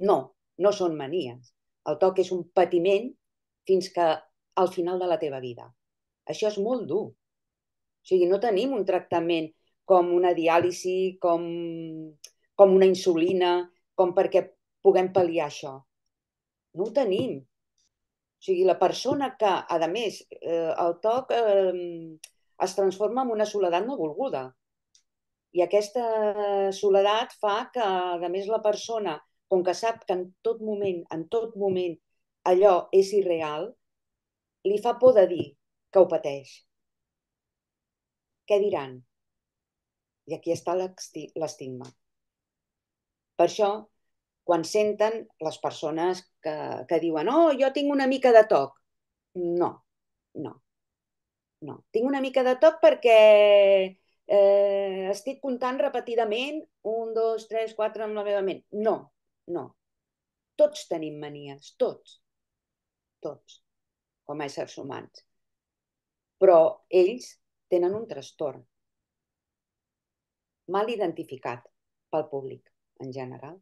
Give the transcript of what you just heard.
No, no són manies. El TOC és un patiment fins que al final de la teva vida. Això és molt dur. O sigui, no tenim un tractament com una diàlisi, com una insulina, com perquè puguem pal·liar això. No ho tenim. O sigui, la persona que, a més, el TOC es transforma en una soledat no volguda. I aquesta soledat fa que, a més, la persona, com que sap que en tot moment, allò és irreal, li fa por de dir que ho pateix. Què diran? I aquí està l'estigma. Per això, quan senten les persones que diuen «Oh, jo tinc una mica de toc», no, no, no. Tinc una mica de toc perquè estic comptant repetidament 1, 2, 3, 4 amb la meva ment. No, no. Tots tenim manies, tots, com a éssers humans. Però ells tenen un trastorn mal identificat pel públic en general.